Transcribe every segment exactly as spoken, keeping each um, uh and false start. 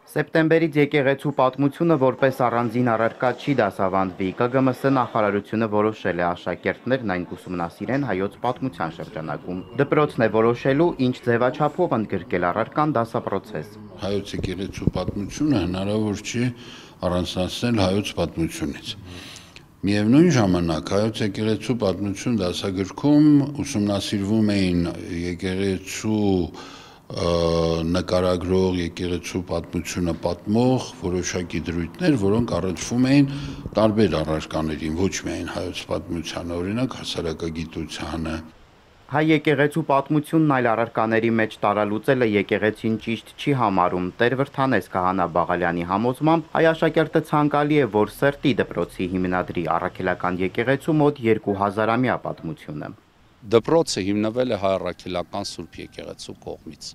Սեպտեմբերից եկեղեցու պատմությունը որպես առանձին առարկա չի դասավանդվի, Կ Գ M S նախարարությունը որոշել է աշակերտներն այն ուսումնասիրեն հայոց պատմության շրջանակում։ Դպրոցն է որոշելու, ինչ ձևաչափով ընդգրկել առարկան դասապրոցես։ Հայոց եկեղեցու պատմությունը հնարավոր չի առանձնացնել հայոց պատմությունից։ Միևնույն ժամանակ հայոց եկեղեցու պատմություն դասագրքում ուսումնասիրվում էին եկեղեցու նկարագրող, եկեղեցու պատմությունը պատմող որոշակի դրույթներ, որոնք առնչվում էին տարբեր առարկաներին, ոչ միայն հայոց պատմությանը, օրինակ հասարակագիտությանը։ Հայ եկեղեցու պատմությունն այլ առարկաների մեջ տարալուծելը եկեղեցին ճիշտ չի համարում։ Տեր Վրդանես Քահանա Բաղալյանի համոզմամբ հայ աշակերտը ցանկալի է, որ Սրտի դպրոցի հիմնադրի առաքելական եկեղեցու մոտ երկու հազարամյա պատմությունը։ Դպրոցը հիմնվել է հայ առաքելական Սուրբ եկեղեցու կողմից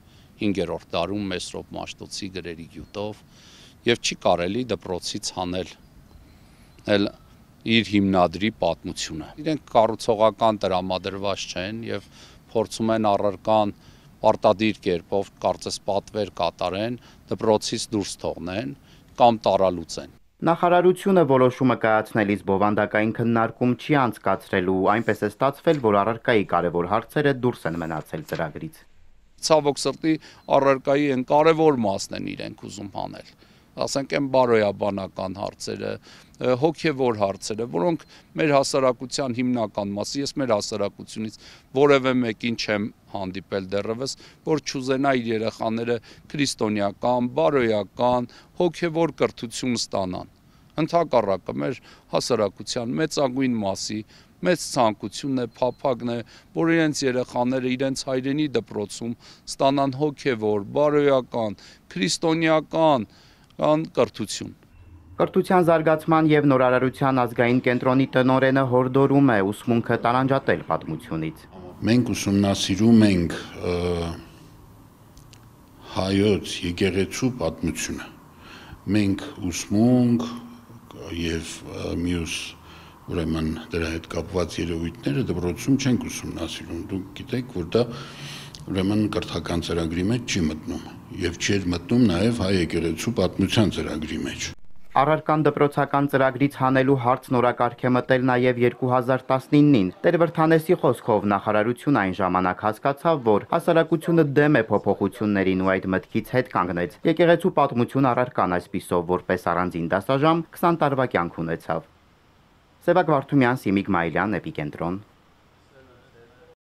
հինգերորդ դարում Մեսրոպ Մաշտոցի գրերի գյուտով եւ չի կարելի դպրոցից հանել էլ իր հիմնադրի պատմությունը։ Իրենք կառուցողական տրամադրված չեն եւ փորձում են առարկան պարտադիր կերպով կարծես պատվեր կատարեն, դպրոցից դուրս թողնեն կամ տարալուծեն։ Նախարարությունը որոշումը կայացնելիս բովանդակային քննարկում չի անցկացրելու, այնպես է ստացվել, որ առարկայի կարևոր հարցերը դուրս են մնացել ծրագրից։ Ցավոք սրտի առարկայի են կարևոր մասն են իրենք ուզում հանել, ասենք այն բարոյաբանական հարցերը, հոգևոր հարցերը, որոնք մեր հասարակության հիմնական մասը, ես մեր հասարակությունից որևէ մեկին չեմ հանդիպել դեռևս, որ չուզենա իր երեխաները քրիստոնեական, բարոյական, հոգևոր կրթություն ստանան։ Ընդհակառակը մեր հասարակության մեծագույն մասի մեծ ցանկությունն է, փափագն է, որ իրենց երեխաները իրենց հայրենի դպրոցում ստանան հոգևոր, բարոյական, քրիստոնեական կրթություն։ Կրթության զարգացման եւ նորարարության ազգային կենտրոնի տնօրենը հորդորում է ուսմունքը տարանջատել պատմությունից։ Մենք ուսումնասիրում ենք հայոց եկեղեցու պատմությունը։ Մենք ուսմունք եւ մյուս ուրեմն դրա հետ կապված երևույթները դպրոցում չենք ուսումնասիրում։ Դուք գիտեք, որ դա ուրեմն կրթական ծրագրի մեջ չի մտնում եւ չի մտնում նաեւ հայ եկեղեցու պատմության ծրագրի մեջ։ Առարկան դպրոցական ծրագրից հանելու հարցն օրակարգ է մտել նաև երկու հազար տասնինին։ Տեր Վրդանեսի խոսքով նախարարությունը այն ժամանակ հասկացավ, որ հասարակությունը դեմ է փոփոխություններին ու այդ մտքից հետ կանգնեց։ Եկեղեցու պատմություն առարկան այսպիսով որպես առանձին դասաժամ քսան տարվա կյանք ունեցավ։ Սևակ Վարդումյան, Սիմիկ Մայլյան, Էպիկենտրոն։